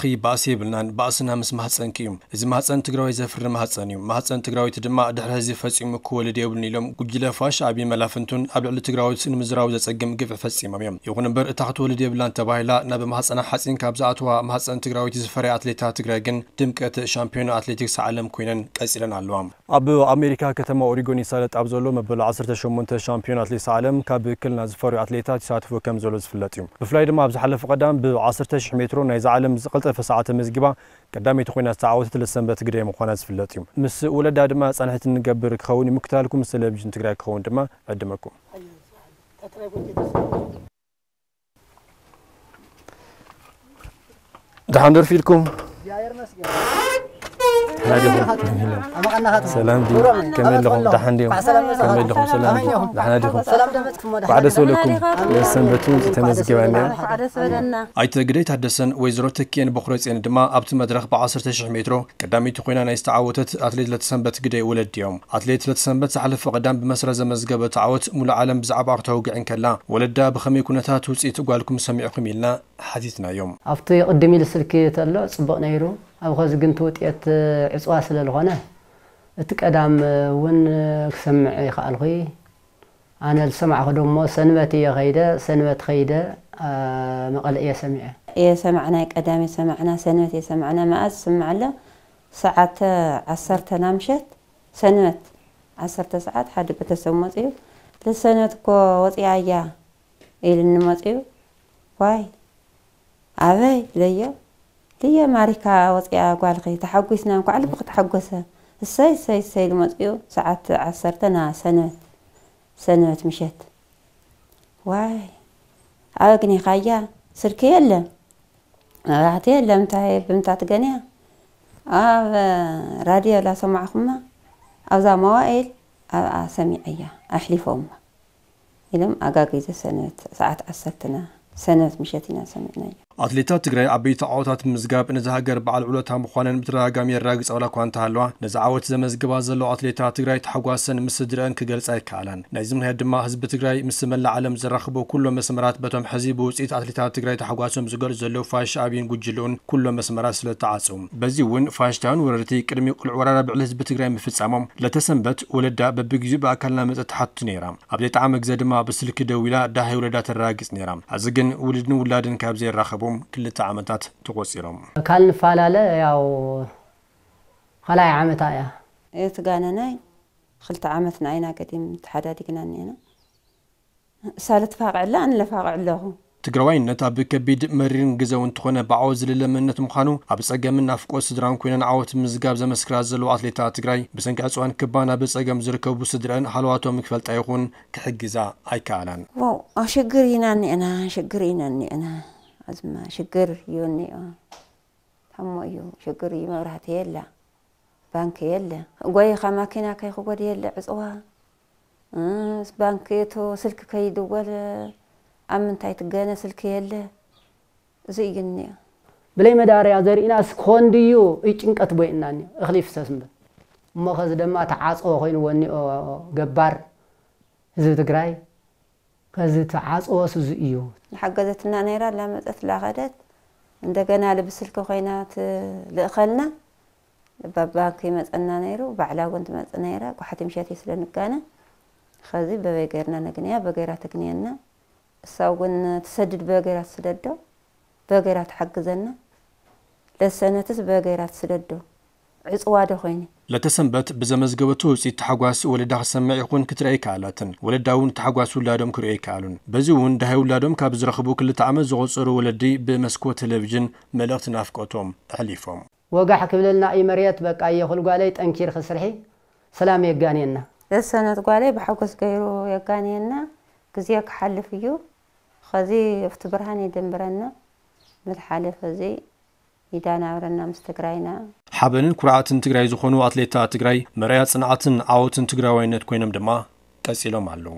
ክይ ባእሲ የብልናን፣ ባእስና ምስ ማህፀንኪ እዩ። እዚ ማህፀን ትግራዋይ ዘፍሪ ማህፀን እዩ። ማህፀን ትግራዊት ድማ ድሕሪ ህዚ ፈፂሙ ክወልድ የብሉን ኢሎም ጉጅለ ፋሽ ኣቢ መላፍንቱን ኣብ ልዕሊ ትግራዊት ንምዝራቡ ዘፀግም ግፍዒ ፈፂሞም እዮም። ይኹን እምበር እታ ክትወልድ የብላን ተባሂላ ናብ ማህፀና ሓፂን ካብ ዝኣተዋ ማህፀን ትግራዊት ዝፈረያ ኣትሌታት ትግራይ ግን ድምቀት ሻምፒዮን ኣትሌቲክስ ዓለም ኮይነን ቀፂለን ኣለዋ። ኣብ ኣሜሪካ ከተማ ኦሪጎን ይሳለጥ ኣብ ዘሎ መበል ዓሰርተ ሸሞንተ ሻምፒዮን ኣትሌቲክስ ዓለም ካብ ክልና ዝፈርዩ ኣትሌታት ይሳተፉ ከም ዘሎ ዝፍለጥ እዩ። ብፍላይ ድማ ኣብ ዝሓለፈ ቀዳም ብ ዓሰርተ ሺሕ ሜትሮ ናይዚ ዓለም ዝቐልጠፈ ሰዓት ተመዝጊባ ቀዳመይቲ ኮይና ዝተዓወተት ለተሰንበት ግደይ ምዃና ዝፍለጥ እዩ። ምስ ወለዳ ድማ ፃንሒት እንገብር ክኸውን እዩ። ምክታልኩም ምስ ቴሌቪዥን ትግራይ ክኸውን ድማ ዕድመኩም። ደሓን ደርፊ ኢልኩም? ደሓን ዲኹም? ሰላም ድዩ? ከመይ ኣለኹም? ደሓን ድዮም? ከመይ ኣለኹም? ሰላም ድዩ? ደሓን ዲኹም? እንኳዕ ደስ በለኩም። ሰንበት እውን ተመዝጊባ እኒኣ። ኣይተ ግደይ ታደሰን ወይዘሮ ተኪኤን በኹረፅየን ድማ ኣብቲ መድረኽ ብ ዓሰርተ ሺሕ ሜትሮ ቀዳመይቲ ኮይና ናይ ዝተዓወተት ኣትሌት ለተሰንበት ግደይ ወለድ እዮም። ኣትሌት ለተሰንበት ዝሓለፈ ቀዳም ብመስረ ዘመዝገበቶ ዓወት ሙሉ ዓለም ብዛዕባ ክተውግዕ እንከላ፣ ወለዳ ብኸመይ ኩነታት ውፅኢት ጓልኩም ሰሚዕኹም ኢልና ሓቲትናዮም። ኣብቲ ቅድም ኢሉ ስልኪ ተሎ ጽቡቕ ነይሩ። ኣብ ኸዚ ግን እቲ ውጤት ዕጽዋ ስለ ዝኾነ፣ እቲ ቀዳም እውን ክሰምዕ ይኸኣልኹ። ኣነ ዝሰማዕኹ ደሞ ሰንበት እየ ኸይደ፣ ሰንበት ኸይደ፣ ኣ፣ መቐለ እየ ሰሚዐ። እየ ሰማዕና፣ ቀዳም እየ ሰማዕና፣ ሰንበት እየ ሰማዕና። መኣዝ ዝስማዕ ኣሎ? ሰዓት ዓሰርተ ናምሸት፣ ሰንበት ዓሰርተ ሰዓት ሓደ ቤተሰብ መጽዩ፣ "ለሰንበት እኮ ወጽያ እያ" ኢልኒ መጽዩ። "ዋይ፣ ኣበይ?" ኢለዮ። "ልየ ማሪካ ወጽያ ጓልኺ፣ ተሓጒስና፣ እንኳዕ ልብኺ ተሓጎሰ። እሰይ፣ እሰይ፣ እሰይ" ኢሉ መጽዩ። ሰዓት ዓሰርተ ና ሰንበት፣ ሰንበት ምሸት። "ዋይ፣ ኣበይ ኣግኒኻያ? ስልኪ የለ፣ መብራህቲ የለ፣ እንታይ ብምንታይ ትገንያ? ኣብ ራድዮ ላሰማዕኹማ፣ ኣብዛ መዋእል ኣብኣ ሰሚዐያ፣ ኣሕሊፎማ" ኢሎም ኣጋጊዘ ሰንበት ሰዓት ዓሰርተ ና ሰንበት ምሸት ኢና ሰሚዕናዮ። ኣትሌታት ትግራይ ዓበይቲ ዓወታት ብምምዝጋብ ነዛ ሃገር በዓል ውለታ ምዃነን ብተደጋጋሚ የረጋግጻ ዋላ እኳ እንተሃለዋ፣ ነዚ ዓወት ዘመዝግባ ዘለዋ ኣትሌታት ትግራይ ታሕጓሰን ምስ ስድረአን ክገልጻ ኣይከኣላን። ናይዚ ምኽንያት ድማ ህዝቢ ትግራይ ምስ መላእ ዓለም ዘራኽቦ ኩሎም መስመራት በቶም ሕዚ ብውጽኢት ኣትሌታት ትግራይ ታሕጓሶም ዝገልጹ ዘለዉ ፋሽ ኣቢን ጉጅልኡን ኩሎም መስመራት ስለ ተዓጽው። በዚ እውን ፋሽስታውያን ወረርቲ ቅድሚ ቅሉዕ ወራር ኣብ ልዕሊ ህዝቢ ትግራይ ምፍጻሞም ለተሰንበት ወለዳ በብግዜኡ ብኣካል እናመጸት ትሓቱ ነይራ። ኣብ ዘይጠዓመ ግዜ ድማ ብስልኪ ደዊላ ደሃይ ውለዳ ተረጋግጽ ነይራ። ሕዚ ግን ውሉድን ውላድን ካብ ዘይራኸቡ ክልተ ዓመታት ተቖጺሮም። ካል ንፈላለ ያው ካልኣይ ዓመታ እያ። እትጋነናይ ክልተ ዓመትና ኢና ገዲም ተሓዳዲግና እኒአና። እሳ ልትፋቕዕላ ኣነ ለፋቕዕ ኣለኹ። ትግራዋይነት ኣብ ከቢድ መሪርን ግዘው እንተኾነ ብዓወት ዝልለ መንነት ምዃኑ ኣብ ጸገምን ናፍቆት ስድራን ኮይነን ዓወት ምዝጋብ ዘመስክራ ዘለዋ ኣትሌታት ትግራይ ብሰንኪ ዕፅዋን ክባን ኣብ ጸገም ዝርከቡ ስድረን ሃለዋቶም ክፈልጣ ይኹን ክሕግዛ ኣይከኣላን። ዋው፣ ሽግር ኢና እኒአና፣ ሽግር ኢና እኒአና። ኣዝማ ሽግር እዩ እኒኦ። ታሞ እዩ፣ ሽግር እዩ። መብራህቲ የላ፣ ባንክ የለ። ጎይኻ ማኪና ከይክጎድ የለ፣ ዕፅዋ። እስ ባንክ እቶ ስልክ ከይድወል ኣብ ምንታይ ትገነ ስልክ የለ። እዚ እዩ እኒኦ። ብለይ መዳርያ ዘርኢናስ ክኾን ድዩ? እዩ ጭንቀት ቦይና እኒኦ። እኽሊ ይፍሰስ እምበር። እሞ ኸዚ ደማ ተዓፅዎ ኮይንዎ እኒኦ ገባር ህዝቢ ትግራይ። ከዚ ተዓፅዎስ እዚ እዩ። ዝሓገዘትና ነይራ፣ ላመፀት ላኸደት። እንደገና ልብስልኪ ኮይና ትልእኸልና። ባባንክ ይመፀና ነይሩ፣ ባዕላ እውን ትመፅእ ነይራ። ጓሓቲ ምሸት እዩ ስለ ንጋነ። ኸዚ በበይ ገይርና ነግንያ፣ በገይራ ተግንየና። እሳ እውን ትሰድድ በገይራ ትስደዶ፣ በገይራ ትሓግዘና። ለሰነትስ በገይራ ትስደዶ፣ ዕፅዋ ዶ ኮይነ። ለተሰንበት ብዘመዝገበቱ ውፅኢት ታሕጓስ ወለዳ ክሰምዕ ይኹን ክትርኢ ኣይከኣላትን። ወለዳ እውን ታሕጓስ ውላዶም ክርእዩ ኣይከኣሉን። በዚ እውን ደሃይ ውላዶም ካብ ዝረኽቡ ክልተ ዓመት ዘቖፀሩ ወለዲ ብመስኮት ቴሌቪዥን መልእኽቲ ናፍቆቶም ኣሕሊፎም። ወጋሕ ክብለልና እዩ መሬት፣ በቃ እየ ኩል ጓለይ ጠንኪር ክስርሒ፣ ሰላም የጋንየና። ለሰነት ጓለይ ብሓጎስ ገይሩ የጋንየና። ግዜ ክሓልፍ እዩ። ኸዚ ኣብቲ ብርሃን የደንብረና። ምልሓለፈ እዚ ይዳናብረና ምስ ትግራይና። ሓበንን ኩርዓትን ትግራይ ዝኾኑ ኣትሌታት ትግራይ መርኣያ ጽንዓትን ዓወትን ትግራዋይነት ኮይኖም ድማ ቀጺሎም ኣለዉ።